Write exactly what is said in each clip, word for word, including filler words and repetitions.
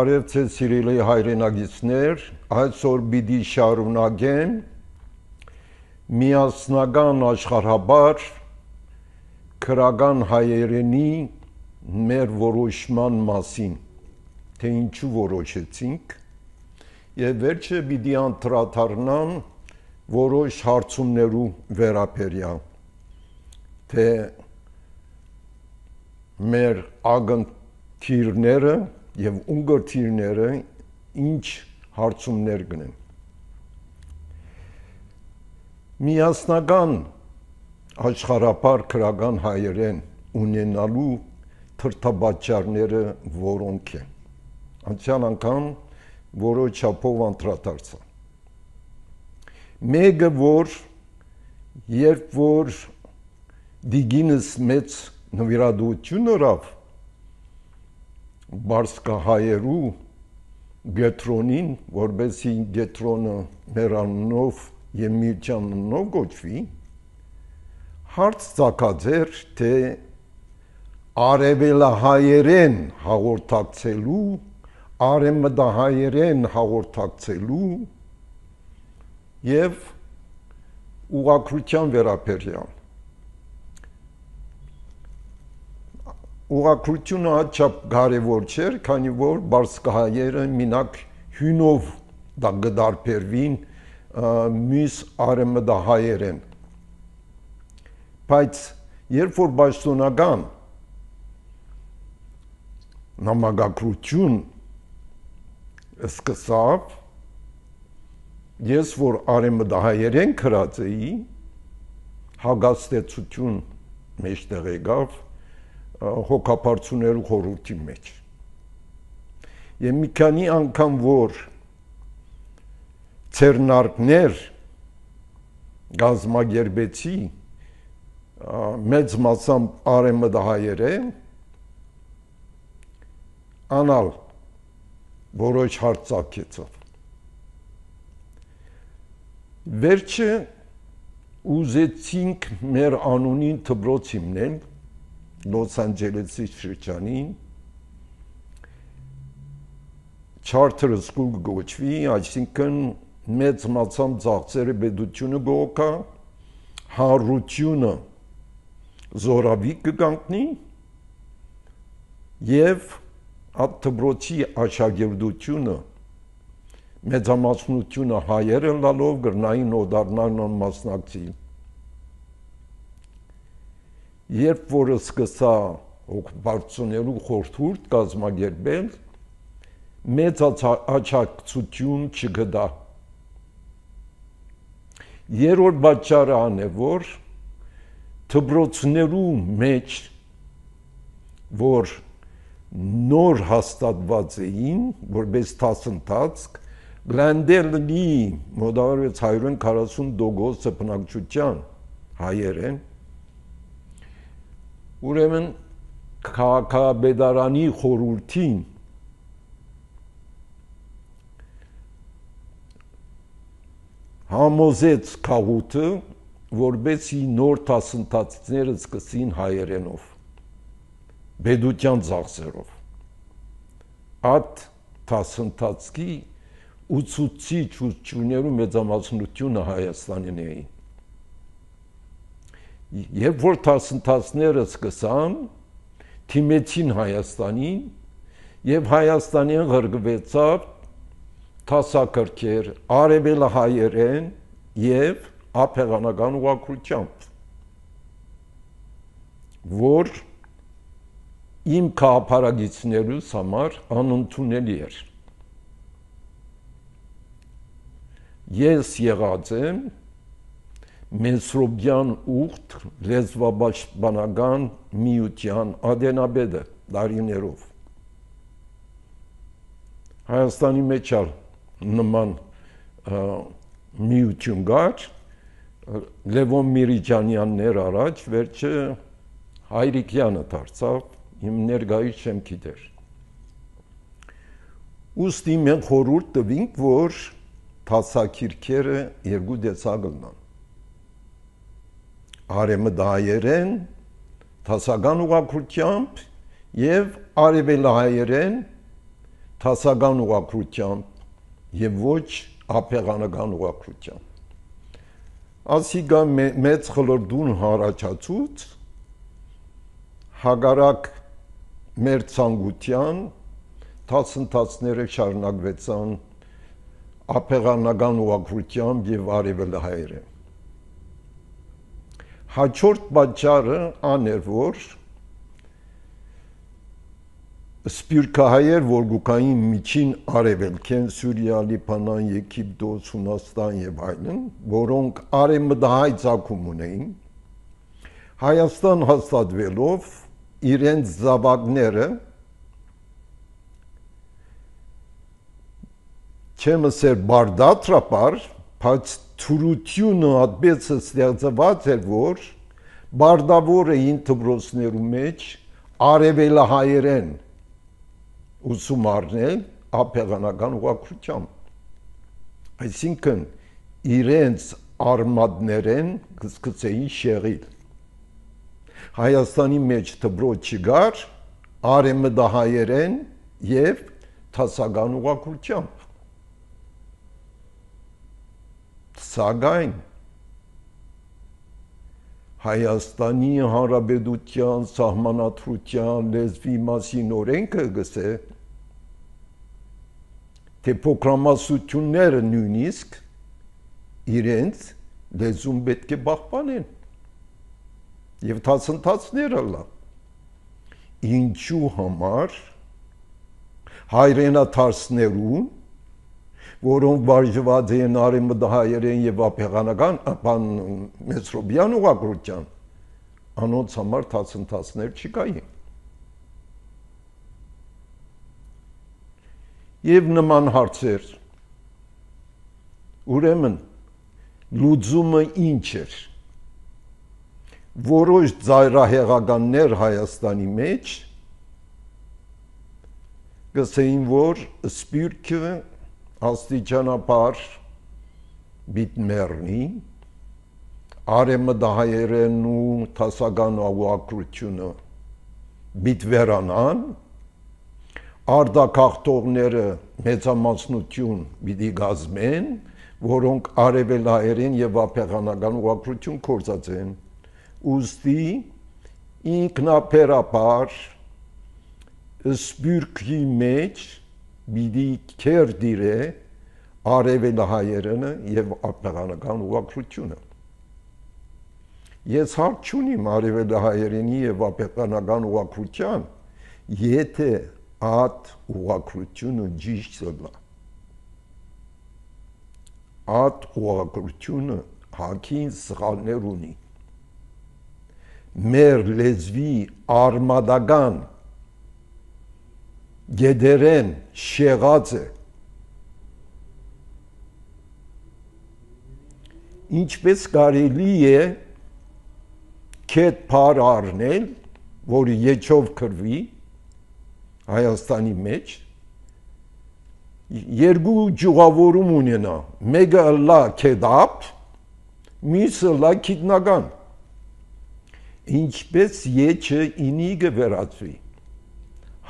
Բարև ձեզ սիրելի հայրենագիտներ, այսօր պիտի շարունակեմ միասնական աշխարհաբար քրական հայերենի մեր որոշման մասին, թե ինչու որոշեցինք, եւ վերջը պիտի անդրադառնամ որոշ հարցումներու վերաբերյալ, թե մեր ագնթիրները եւ ունգրթիրները ինչ հարցումներ կնեն։ Միասնական աշխարհապար քրական հայերեն ունենալու թրթաբաճարները որոնք են։ Անցյալ անգամ որոշ չափով անդրադարձա։ Մեկը որ երբ որ դիգինս մեծ նվիրատվություն ունավ բարսկահայերու գետրոնին, որբեսի գետրոնը մեր անունով եւ միության անունով գոչվի, հարց ծագած էր, թե արևելահայերեն հաղորդակցելու, արևմտահայերեն հաղորդակցելու եւ ուղղակրության վերաբերյալ։ Ուղղակրությունը հաճապ կարևոր չէր, քանի որ բարսկահայերը մինակ հյունով դա գդարբերվին մյուս արևմտահայերեն։ Բայց երբ որ պաշտոնական նամակագրություն սկսավ, ես որ արևմտահայերեն գրած էի, հագաստեցություն մեջտեղ եկավ հոգապարծուներու խորհրդի մեջ։ Եվ մի քանի անգամ որ ցերնարկներ գազմագերբեցի մեծ մասամբ արևմտահայերեն, անալ որոշ հարց ծագեցավ։ Վերջը ուզեցինք մեր անունին դպրոց հիմնել Լոս Անջելեսի շրջանին, Charter School գոչվի, այսինքն մեծ մասամբ ծախսերը պետությունը գոհկա, հանրությունը զորավի կգանքնի եւ այդ դպրոցի աշակերտությունը մեծամասնությունը հայերը լալով գրնային օդառնան մասնակցի։ Երբ որ սկսա օկուպացիոներու խորհուրդ կազմակերպել, մեծ աջակցություն չգտա։ Երրորդ պատճառը ան է, որ դպրոցներու մեջ, որ նոր հաստատված էին, որպես դասընթաց, գլանդելնի մոտավորապես հարյուր քառասուն տոկոս բնակչության հայերեն, ուրեմն քաղաքապետարանի խորհրդին համոզեց քաղուտը, որբեսի նոր դասընթացները սկսին հայերենով, պետության ծախսերով։ Այդ դասընթացի ուսուցիչ ուսուցիչներու մեծամասնությունը Հայաստանին էին։ Երբ որ դասընթացները սկսան, թիմեցին Հայաստանին եւ Հայաստանին ղրկվեցավ դասակարգեր արևելահայերեն եւ ափեղանական ուղղակրությամբ, որ իմ քաղաքարագիցներուս համար անընդունելի էր։ Ես եղած եմ Մեսրոբյան ուխտ լեզվապաշտպանական միության ադենաբեդը դարիներով։ Հայաստանի մեջ ալ նման միություն կար, Լևոն Միրիջանյաններ առաջ, վերջը Հայրիկյանը դարձավ, իմ ներկայից չեմ գիտեր։ Ուստի մենք խորհուրդ տվինք, որ դասակիրքերը երկու տեսակ լինեն։ Արևմտահայերեն դասական ուղղակրությամբ եւ արևելահայերեն թասական ուղղակրությամբ եւ ոչ ափեղանական ուղղակրությամբ։ Ասիգա մեծ խլորդուն հարաճացուց հագարակ մեր ցանկության դասընթացները շարունակվեցան ափեղանական ուղղակրությամբ եւ արևելահայերեն։ Հաջորդ պատճառը աներ որ սպյուրքահայեր որգուկային միջին արևելքեն Սուրիա, Լիբանան, Եգիպտոս, Հունաստան եւ այլն, որոնք արևմտահայ ցակում ունեին, Հայաստան հաստատվելով իրենց զավակները չեմ ասել բարդատրապար, բայց թուրությունը այդպես ստեղծված էր, որ բարդավորը ինտեգրոսներու մեջ արևելահայերեն ուսում առնել ափեղանական ուղղակրությամբ։ Այսինքն իրենց արմատներեն կսկսեին շեղիլ։ Հայաստանի մեջ դպրոց չկար արևմտահայերեն եւ դասական ուղղակրությամբ։ Սակայն Հայաստանի Հանրապետության սահմանադրության լեզվի մասին օրենքը գսե, թե փոքրամասնությունները նույնիսկ իրենց լեզուն պետք է պահպանեն եւ դասընթացները լա։ Ինչու համար հայրենադարձներուն, որոնք բաժանված են արևմտահայերեն եւ ափեղանական բան մեծրոբյան ուղղակրության, անոնց համար դասընթացներ չկային։ Եվ նման հարցեր։ Ուրեմն լուծումը ինչ էր։ Որոշ ծայրահեղականներ Հայաստանի մեջ գսեին, որ սպյուրքը աստիճանաբար բիտ մեռնի, արևմտահայերեն ու դասական ուղղակրությունը բիտ վերանան, արտագաղթողները մեծամասնություն պիտի գազմեն, որոնք արևելահայերեն եւ ափեղանական ուղղակրություն կործածեն, ուստի ինքնաբերաբար սպյուրքի մեջ պիտի քերդիրե արևելահայերենը եւ ափեղանական ուղղակրությունը։ Ես հարկ չունիմ արևելահայերենի եւ ափեղանական ուղղակրության, եթե այդ ուղղակրությունը ճիշտ լա։ Այդ ուղղակրությունը հակին սխալներ ունի։ Մեր լեզվի արմատական գեդերեն շեղած է։ Ինչպես կարելի է քետ փար առնել, որը եչով կրվի Հայաստանի մեջ, երկու ճյուղավորում ունենա, մեկը լա քեդապ, մյուսը լա քիտնական։ Ինչպես եչը ինի կվերածվի։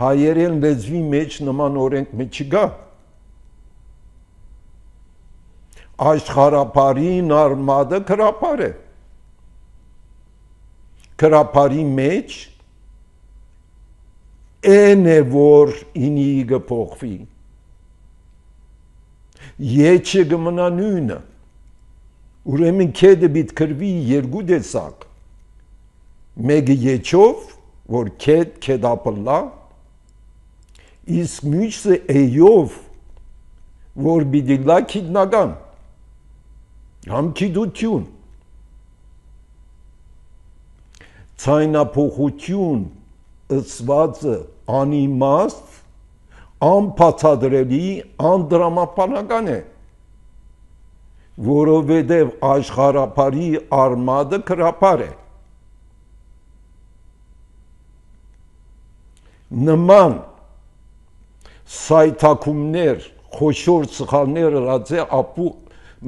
Հայերեն լեզվի մեջ նման օրենք մեջ չկա։ Աշխարհապարին արմատը քրապար է։ Քրապարի մեջ են է որ ինի կփոխվի։ Եչը կմնա նույնը։ Ուրեմն քեդը պիտի կրվի երկու տեսակ։ Մեկը եչով, որ քեդ քեդապլա, իսկ մյուսը էյով, որ պիտի լա քիտնական, համ քիդություն, ցայնափոխություն ըսվածը անիմաստ, անբացատրելի, անդրամապանական է, որովհետև աշխարհապարի արմատը քրապար է։ Նման սայթակումներ, խոշոր սխալներ ըրած է ապու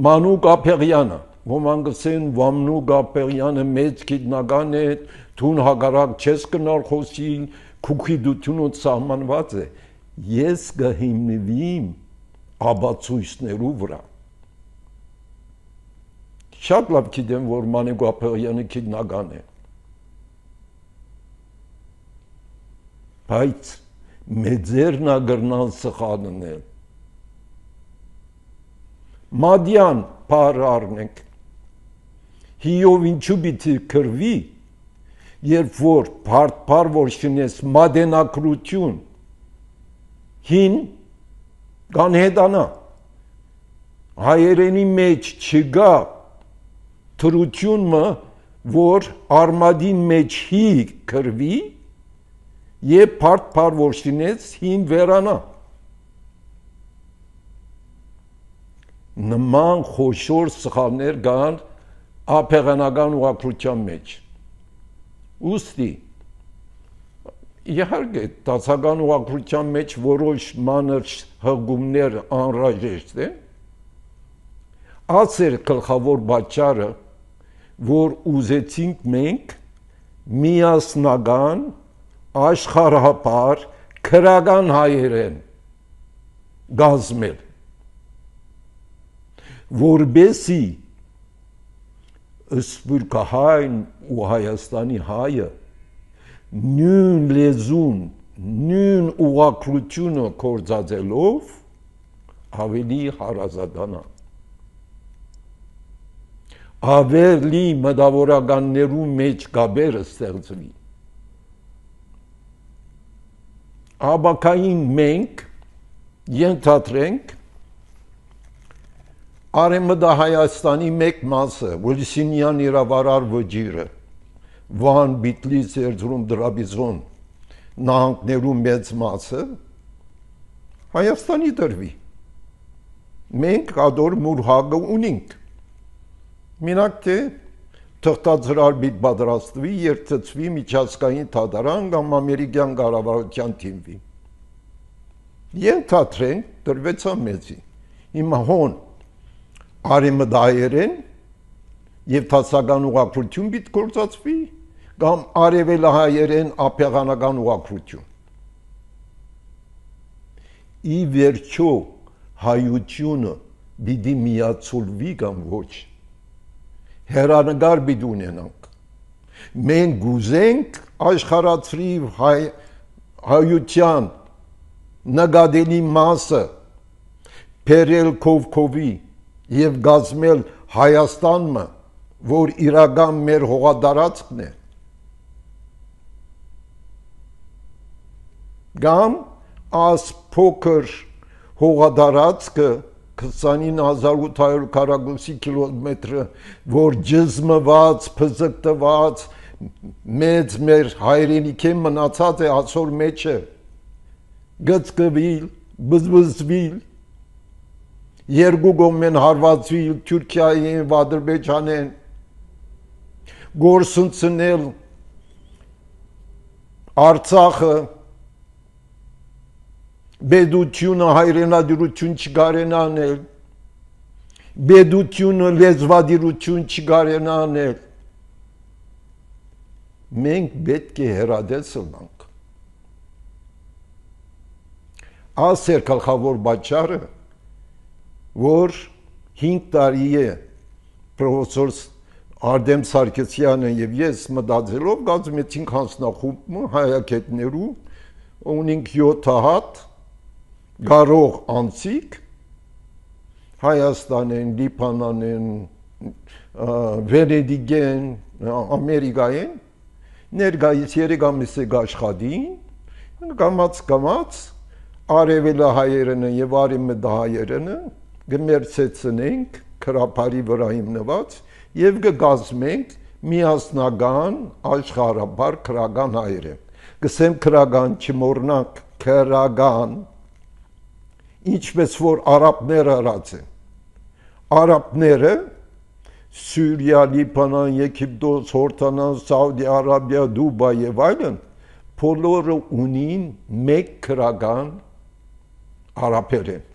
Մանուկ Ափեղյանը, ոմանք ասեն Վամնուկ Ափեղյանը մեծ գիտնական է, թուն հագարակ չես կնար խոսիլ, քուքիդությունոց սահմանված է, ես կհիմնվիմ աբացույցներու վրա։ Շատ լավ գիտեմ, որ Մանուկ Գաբրելյանը քննական է։ Բայց մեծերն ագրնան սխալնել։ Մադյան պար առնենք, հիով ինչու պիտի կրվի, երբ որ պար որ շնես մադենակրություն, հին կանհետանա, հայերենի մեջ չգա թրությունը, որ արմադին մեջ հի կրվի, և պար որ շնես հին վերանա։ Նման խոշոր սխալներ կան ափեղանական ուղղակրության մեջ։ Ուստի իհարկե դասական ուղղակրության մեջ որոշ մանր հղումներ անհրաժեշտ են։ Ասեր գլխավոր պատճառը, որ ուզեցինք մենք միասնական աշխարհապար քրական հայերեն գազմել, որբեսի սփյուռքահայն ու Հայաստանի հայը նույն լեզուն, նույն ուղղակրությունը կործածելով ավելի հարազատանա, ավելի մտավորականներու մեջ գաբերը ստեղծվի։ Աբակային մենք ենթադրենք Արևմտահայաստանի մեկ մասը, Վոլսինյան իրավարար վճիրը, Վան, Բիտլիս, Էրզրում, Դրաբիզոն նահանգներու մեծ մասը Հայաստանի դրվի։ Մենք ադոր մուրհագը ունենք։ Մենակ թե թղթածրար բիտ պատրաստվի, երթծվի միջազգային թադարան կամ ամերիկյան կառավարության թիմվի։ Ենթադրենք դրվեցա մեծի։ Հիմա հոն արևմտահայերեն եւ դասական ուղղակրություն պիտի գործածվի կամ արևելահայերեն ափեղանական ուղղակրություն։ Ի վերջո հայությունը պիտի միացոլվի կամ ոչ։ Հերանեկար պիտի ունենանք։ Մենք գուզենք աշխարհացրի հայ, հայության նկատելի մասը փերել քովքովի եւ գազմել Հայաստանը, որ իրական մեր հողատարածքն է։ Կամ աս փոքր հողատարածքը քսանինը հազար ութ հարյուր քառակուսի կիլոմետրը, որ ջզմված, փզկտված, մեծ մեր հայրենիքի մնացած է ասոր մեջը, գծկվիլ, բզբզվիլ, երկու գոմեն հարվածվիլ, Թուրքիային, Ադրբեջանեն, գործընծնել Արցախը, բեդությունը հայրենադիրություն չգարեն անել, բեդությունը լեզվադիրություն չգարեն անել, մենք պետք է հեռադես ըլնանք։ Ասեր գլխավոր պատճառը, որ հինգ տարի է պրոֆեսոր Արտեմ Սարգսյանը եւ ես մտածելով գազմեցինք հանձնախումբը հայագետներու, ունենք յոթ հատ գարող անցիկ Հայաստանեն, Լիբանանեն, Վենեդիգեն, Ամերիկային ներկայիս երեք ամիս է աշխատին, կամաց կամաց արևելահայերենը եւ արևմտահայերենը գմերցեցնենք քրափարի վրա հիմնված եւ կգազմենք միասնական աշխարհաբար քրական հայերեն։ Գսեմ քրական չմոռնանք քրական, ինչպես որ արաբները արած են։ Արաբները Սուրիա, Լիբանան, Եգիպտոս, Հորդանան, Սաուդի Արաբիա, Դուբայ եւ այլն բոլորը ունին մեկ քրական արաբերեն։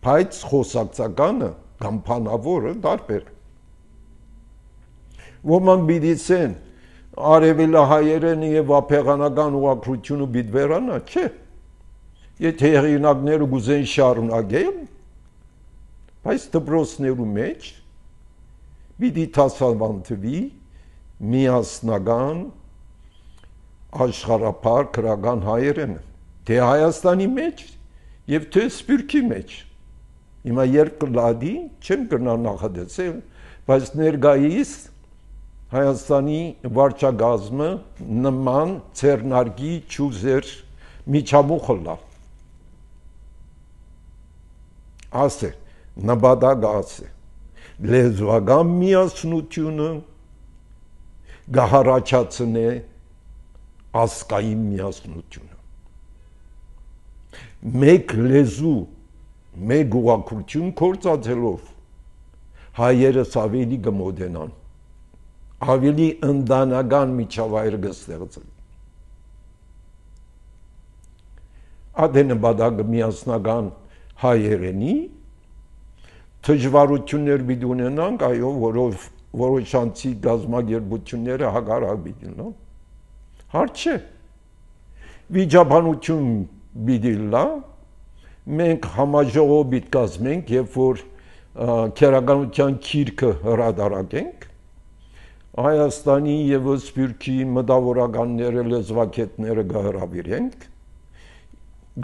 Բայց խոսակցականը կամ փանավորը տարբեր է։ Ոմանք բիդիսեն արևելահայերենը եւ ափեղանական ուղղակրությունը պիտի վերանա, չէ։ Եթե հեղինակները գուզեն շարունակել, բայց դպրոցներու մեջ պիտի դասավանդվի միասնական աշխարհափառ քրական հայերենը, թե Հայաստանի մեջ եւ թե Սփյուռքի մեջ։ Հիմա երբ կլադի, չեմ կրնա նախադասել, բայց ներկայիս Հայաստանի վարչագազմը նման ցերնարգի ճուզեր միջամուխը լա։ Ասե, նպատակ ասե, լեզվական միասնությունը գահարաչացնե ազգային միասնությունը։ Մեկ լեզու, մեկ ուղղակություն կործածելով հայերս ավելի կմոտենան, ավելի ընդանական միջավայր կստեղծեն։ Ադե նպատակը միասնական հայերենի դժվարություններ պիտի ունենանք, այո, որով որոշ անցի գազագերբությունները հակառակ պիտի լինեն։ Հարց չէ։ Վիճաբանություն պիտի լա, մենք համաժողով պիտի կազմենք, երբ որ քերականության քիրքը հրադարակենք, Հայաստանի եւ Սփյուռքի մտավորականները, լեզվակետները կհրավիրենք,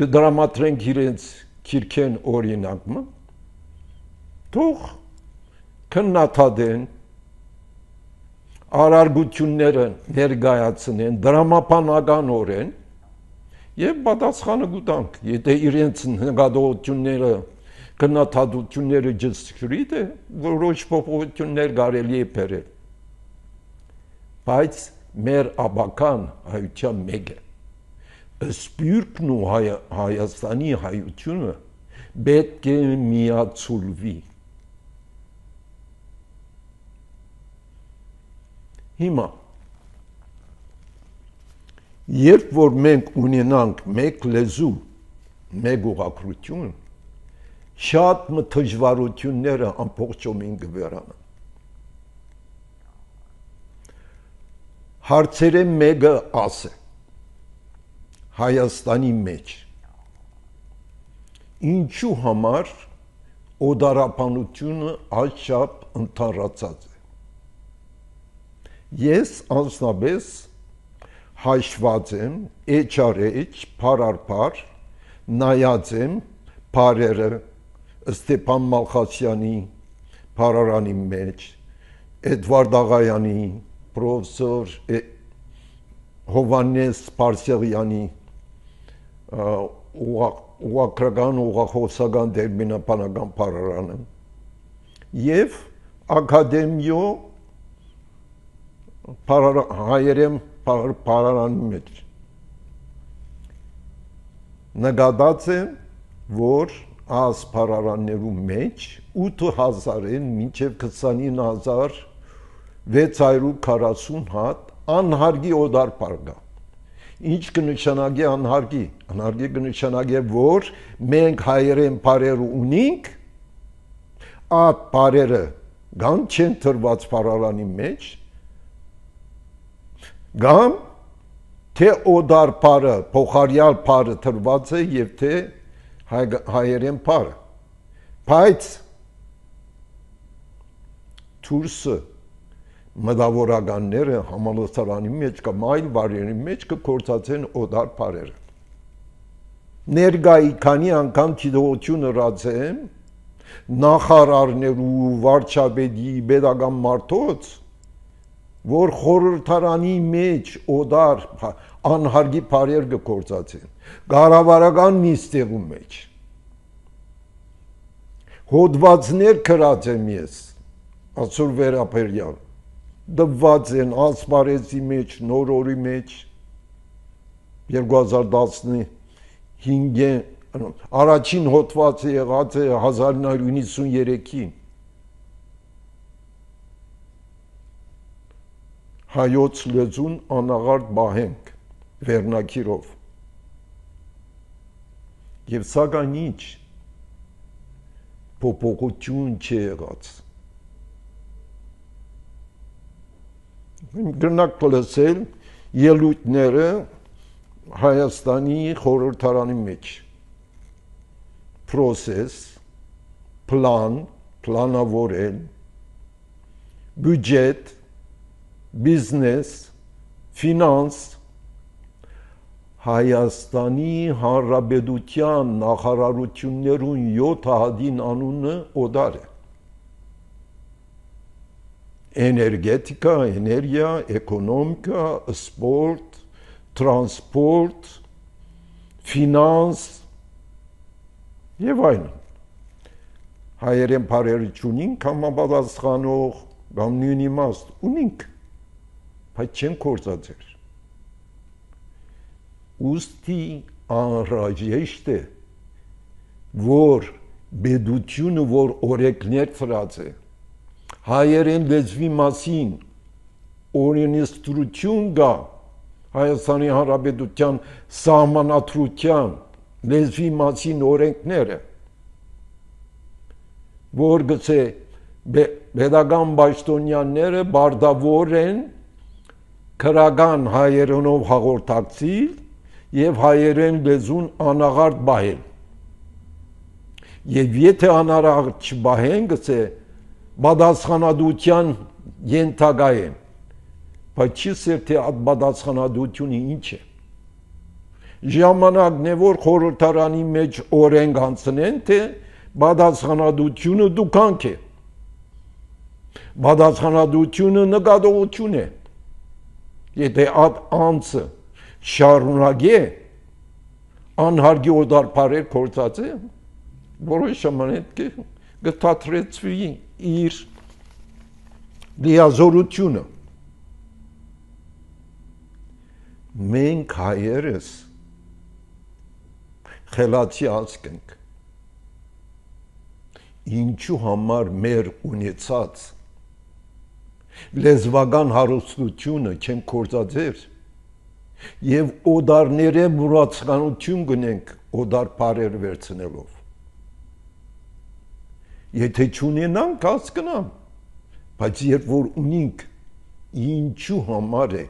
կդրամատրենք իրենց քիրքեն օրինակը, թող քննադատեն, արարգությունները ներկայացնեն դրամապանականորեն եւ պատասխանը կտանք, եթե իրենց նկատողությունները քննադատությունները ջսկրիտ է, որոշ փոփոխություններ կարելի է բերել, բայց մեր աբական հայության մեկ է, Սփյուռքն ու Հայաստանի հայությունը պետք է միացուլվի։ Հիմա, երբ որ մենք ունենանք մեկ լեզու, մեկ ուղղակրություն, շատ դժվարությունները ամբողջովին կվերանան։ Հարցերը մեկը ասե, Հայաստանի մեջ, ինչու համար օդարապանությունը այդչափ ընդհանրացած է։ Ես անձնապես հաշված եմ, էջ առ էջ, փար առ փար, նայած եմ փարերը Ստեփան Մալխասյանի փարարանի մեջ, Էդվարդ Աղայանի, պրոֆեսոր Հովհաննես Պարսեղյանի ուղղակրական, ուղղախոսական դերմինապանական փարարանը եւ ակադեմիո հայերեն փարարանի մեջ նկատած է, որ այս փարարաններու մեջ ութ հազարեն մինչև քսանինը հազար վեց հարյուր քառասուն հատ անհարգի օդար փար կա։ Ինչ կնշանակի անհարգի, անհարգի կնշանակի, որ մենք հայերեն փարեր ունենք, այդ փարերը գամ չեն տրված փարարանի մեջ, գամ թե օդար փարը, փոխարյալ փարը տրված է եւ թե հայերեն փարը։ Բայց թուրսը մտավորականները համալսարանի մեջ կամ այլ վայրերի մեջ կկործածեն օդար փարերը։ Ներկայի քանի անգամ դիտողություն հրացեմ նախարարներու, վարչապետի, պետական մարդոց, որ խորհրդարանի մեջ օդար անհարգի փարեր կկործածեն, կառավարական նիստերու մեջ։ Հոդվածներ գրած եմ ես, Ասուր Վերապերյան, դված են ասպարեզի մեջ, նոր օրի մեջ, երկու հազար տասնհինգ առաջին հոդվածը եղած է հազար ինը հարյուր հինգսուններեքին հայոց լեզուն անաղարտ բահենք վերնակիրով եւ սակայն ինչ փոփոխություն չի եղած Գրնակ լսել ելույթները Հայաստանի խորհրդարանի մեջ process, plan, planավորել, բյուջետ, բիզնես, ֆինանս, Հայաստանի Հանրապետության նախարարություններուն յոթ հատին անունը օդար է։ Էներգետիկա, էներգիա, էկոնոմիկա, սպորտ, տրանսպորտ, ֆինանս եւ այլն։ Հայերեն բարերը չունինք համապատասխանող կամ նույն իմաստ ունինք, բայց չեն կործածեր։ Ուստի անհրաժեշտ է, որ պետությունը, որ օրենքներ ծրած է, հայերեն լեզվի մասին օրենսդրություն գա Հայաստանի Հանրապետության սահմանադրության լեզվի մասին օրենքները, որ գցե պետական պաշտոնյաները բարդավոր են քրական հայերենով հաղորդակցել եւ հայերեն լեզուն անաղարտ բահել։ Եվ եթե անաղարտ չբահեն, գցե պատասխանատվության ենթակա են, բայց չի սեր թե այդ պատասխանատվությունը ինչ է։ Ժամանակն է, որ խորհրդարանի մեջ օրենք հանցնեն, թե պատասխանատվությունը դուքանք է։ Պատասխանատվությունը նկատողություն է։ Եթե այդ անձը շարունակե անհարգի օդարբարեր կործած է, որոշ ժամանակ կթատրեցվի իր լիազորությունը։ Մենք հայերս խելացի ազգ ենք, ինչու համար մեր ունեցած լեզվական հարստությունը չեն կործածեր եւ օդարները մուրացկանություն գնենք օդար բարեր վերցնելով։ Եթե չունենանք, հասկանամ, բայց երբ որ ունենք, ինչու համար է։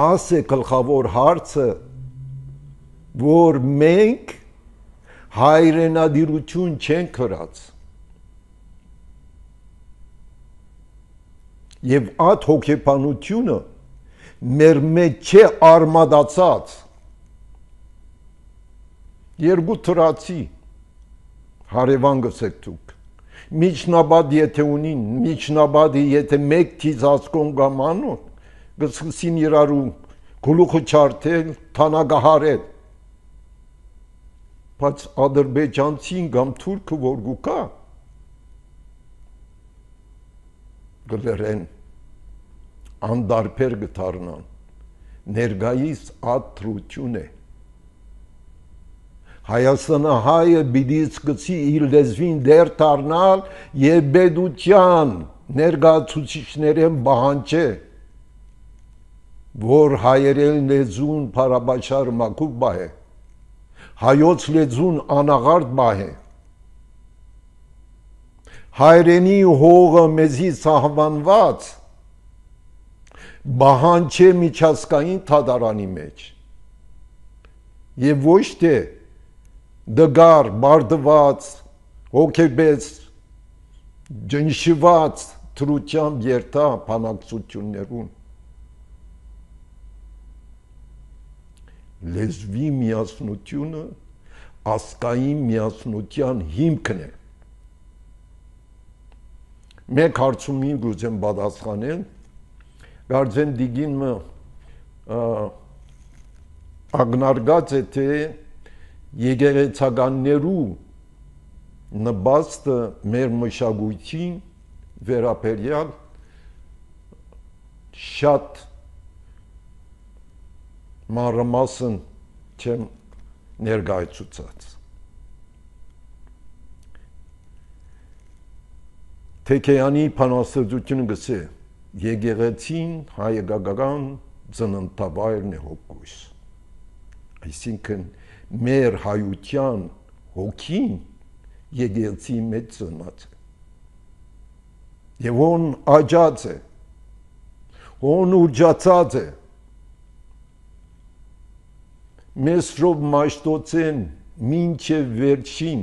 Աս է գլխավոր հարցը, որ մենք հայրենադիրություն չենք կրած։ Եվ այդ հոգեբանությունը մեր մեջ չէ արմադացած։ Երկու թրացի հարևան գսեք դուք։ Միջնաբադ եթե ունին, միջնաբադի եթե մեկ թիզ ասկոն կամ անուն, գսկսին իրարու գլուխը չարթել, թանագահարել։ Բայց ադրբեջանցին կամ թուրքը որ գուկա, գլերեն անդարբեր գտարնան, ներգայիս ադրություն է։ Հայաստանը հայը բիդի սկսի իր լեզվին դեր տարնալ և պետության ներգացուցիչներեն բահանջե, որ հայերեն լեզուն պարաբաչար մակուբ բահ է, հայոց լեզուն անաղարտ բահ է, հայրենի հողը մեզի սահմանված բահանջե միջազգային թադարանի մեջ և ոչ թե դգար, բարդված, հոգեբես, ջնշված թրությամբ երթա բանակցություններուն։ Լեզվի միասնությունը ազգային միասնության հիմքն է։ Մեկ հարցումին գուզեմ պատասխանել, կարծեմ դիգինը ագնարգած է, թե եկեղեցականներու նպաստը մեր մշակույթին վերաբերյալ շատ մանրամասն չեմ ներկայացուցած։ Թեքեյանի բանաստեղծությունը գսե եկեղեցին հայկական ծննդավայրն է հոգուս։ Այսինքն մեր հայության հոգին եկեղեցի մեջ ծնած է։ Եվ ոն աճած է, ոն ուրջացած է, Մեսրոպ Մաշտոցեն մինչև վերջին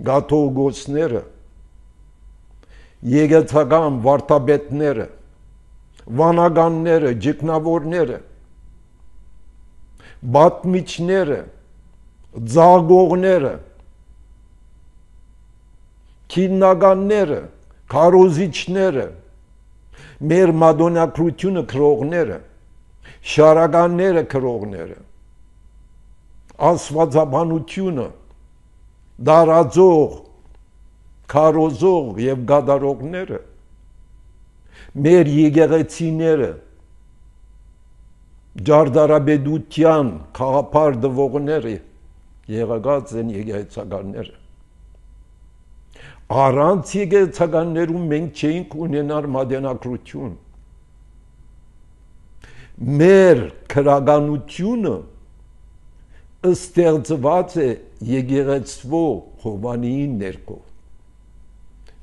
գաթողիկոսները, եկեղեցական վարդապետները, վանականները, ջիկնավորները, բատմիչները, ձագողները, քիննականները, քարոզիչները, մեր մադոննակրությունը քրողները, շարականները քրողները, աստվածաբանությունը դարաձող, քարոզող եւ գադարողները, մեր եկեղեցիները, ջարդարաբեդության խաղապար դվողները եղած են եկեղեցականները։ Առանց եկեղեցականներում մենք չէինք ունենալ մատենագրություն։ Մեր քրագանությունը ստեղծված է եկեղեցվո Հովանիի ներքո։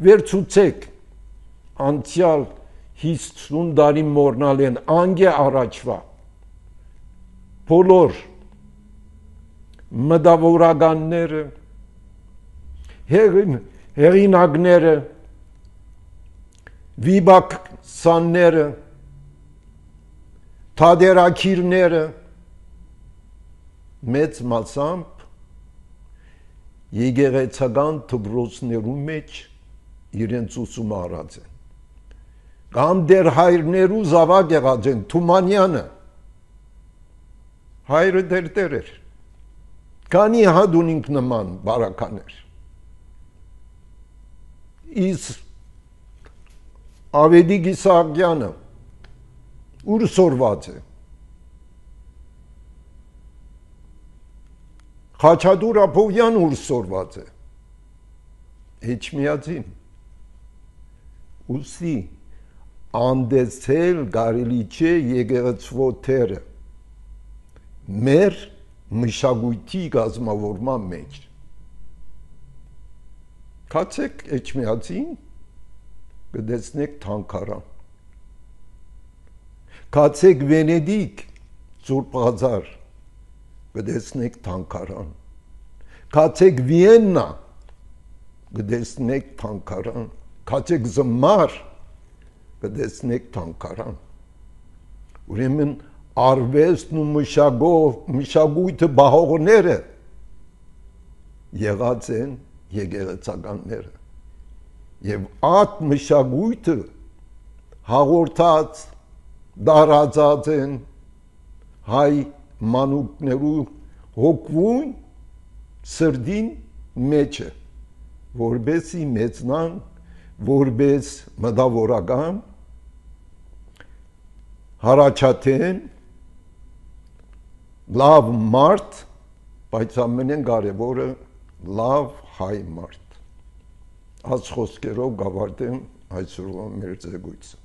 Վերցուցեք անցյալ հիսուն տարի մոռնալ են անգե առաջվա բոլոր մտավորականները, հեղին հեղինակները, վիբակցանները, թադերակիրները մեծ մասամբ եկեղեցական դպրոցներու մեջ իրենց ուսումը արած են։ Կամ դեր հայրներու զավակ եղած են, Թումանյանը, հայրը դեր դեր էր, քանի հատ ունինք նման բարականեր։ Իսկ Ավետիք Իսահակյանը ուր սորված է։ Խաչատուր Ափովյան ուր սորված է։ Էջմիածին։ Ուսի անդեցել կարելի չէ եկեղեցվո թերը մեր մշակույթի կազմավորման մեջ։ Կացեք Էջմիածին, կտեսնեք թանգարան։ Կացեք Վենեդիկ, Սուրբ Ղազար, կտեսնեք թանգարան։ Կացեք Վիեննա, կտեսնեք թանգարան։ Կացեք Զմար, կտեսնեք թանգարան։ Ուրեմն արվեստն ու մշակույթը բահողները եղած են եկեղեցականները եւ այդ մշակույթը հաղորդած դարածած են հայ մանուկներու հոգվուն սրդին մեջը որբեսի մեծնան որբես մտավորական հարաճաթեն լավ մարդ, բայց ամենեն կարևորը լավ հայ մարդ։ Այս խոսքերով գավարտեմ այսօրվա մեր զեկույցը։